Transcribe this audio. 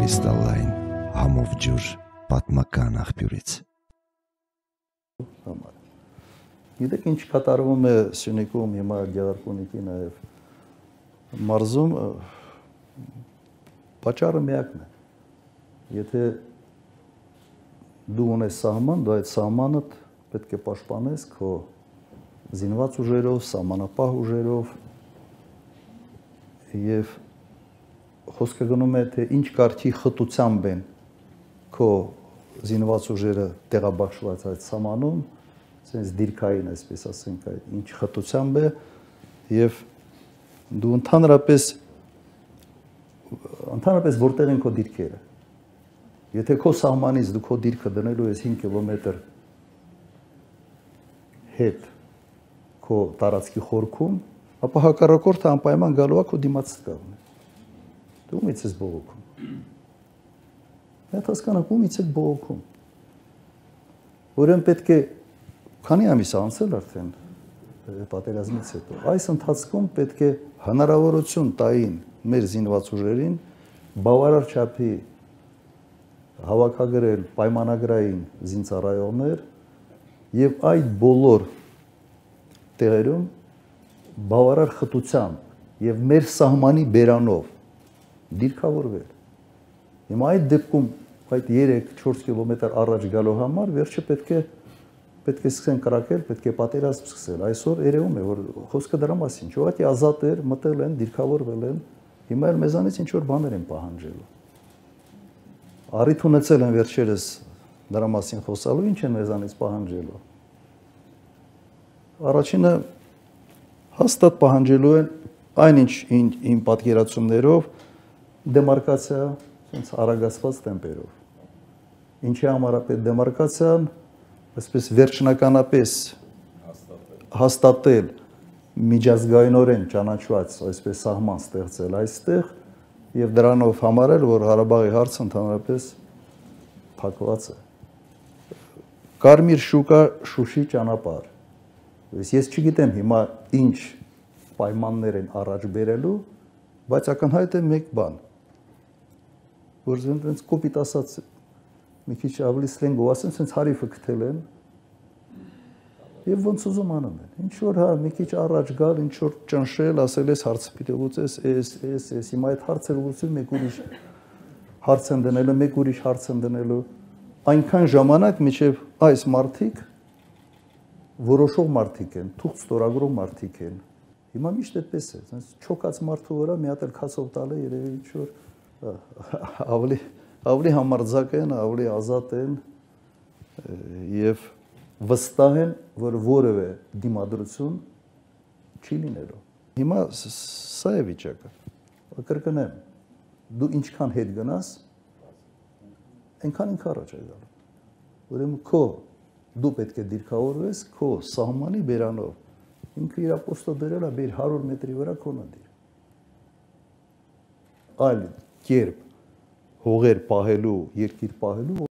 Կրիստալային համով ջուր պատմական աղբյուրից։ Գիտեք ինչ կատարվում է Սյունիքում հիմա Գեղարքունիքի նաև մարզում, պատճառը միակն է։ Եթե դու ունես սահման, դու այդ սահմանը պետք է պաշտպանես քո զինված ուժերով, սահմանապահ ուժերով եւ խոսքը գնում է թե ինչ կարգի խտությամբ են քո զինված ուժերը տեղաբաշխված այդ սահմանում, sense դիրքային, այսպես ասենք, այդ ինչ խտությամբ է եւ դու ընդհանրապես որտեղ են քո դիրքերը։ Եթե քո սահմանից դու քո դիրքը դնելու ես 5 կիլոմետր հետ քո տարածքի խորքում, ապա հակառակորդը անպայման գալու է քո դիմաց կողմը։ Դու ումից ես բողոքում։ Այդ հասկանանք ումից եք բողոքում։ Ուրեմն պետք է քանի ամիս անցել արդեն պատերազմից հետո։ Այս ընթացքում պետք է հնարավորություն տային մեր զինված ուժերին բավարար չափի հավաքագրել պայմանագրային զինծառայողներ եւ այդ բոլոր տեղերում բավարար խտությամբ եւ մեր սահմանի բերանով դիրքավորվել։ Հիմա այդ դեպքում այդ 3-4 կիլոմետր առաջ գալու համար վերջը պետք է սկսեն կրակել, պետք է պատերազմ սկսել։ Այսօր երևում է, որ խոսքը դրա մասին չէ, ուղղակի ազատ էր, մտել են, դիրքավորվել են, հիմա էլ մեզանից ինչ որ բաներ են պահանջելու։ Առիթ ունեցել են վերջերս դրա մասին խոսալու, ինչ են մեզանից պահանջելու։ Առաջինը հաստատ պահանջելու են այնինչ իմ պատկերացումներով դեմարկացիա, sense արագացված տեմպերով։ Ինչի համար է պետք դեմարկացիան, այսպես վերջնականապես հաստատել միջազգայինորեն ճանաչված այսպես սահման ստեղծել այստեղ եւ դրանով համարել, որ Ղարաբաղի հարցը ընդհանրապես փակված է։ Կարմիր շուկա Շուշի ճանապարհ։ Ես չգիտեմ հիմա ինչ պայմաններ են առաջ բերելու, բայց ակնհայտ է մեկ բան, որ այնց կոպիտ ասած մի քիչ ավելի սլենգով ասեմ, sense հարիվը գտել են եւ ոնց ուզում անում են։ Ինչ որ հա մի քիչ առաջ գալ, ինչ որ ճնշել, ասել ես հարցը պիտի լուծես, էս հիմա այդ հարցը լուծում մեկ ուրիշ հարց են դնելու, մեկ ուրիշ հարց են դնելու։ Այնքան ժամանակ միջև այս մարդիկ որոշող մարդիկ են, թուղթ ստորագրող մարդիկ են։ Հիմա միշտ այդպես է, sense չոքած մարդու վրա մի հատ էլ քասով տալը երևի ինչ որ ավելի համարձակ են, ավելի ազատ են եւ վստահ են, որ որևէ դիմադրություն չի լինելու։ Հիմա սա է վիճակը։ Կրկնեմ, դու ինչքան հետ գնաս, այնքան ինքը առաջ է գալու։ Ուրեմն դու պետք է դիրքավորվես քո սահմանի բերանով։ Ինքը իր ապոստո դրել է բեր 100 մետրի վրա քոնը դիր։ Այլ կերպ հողեր պահելու, երկիր պահելու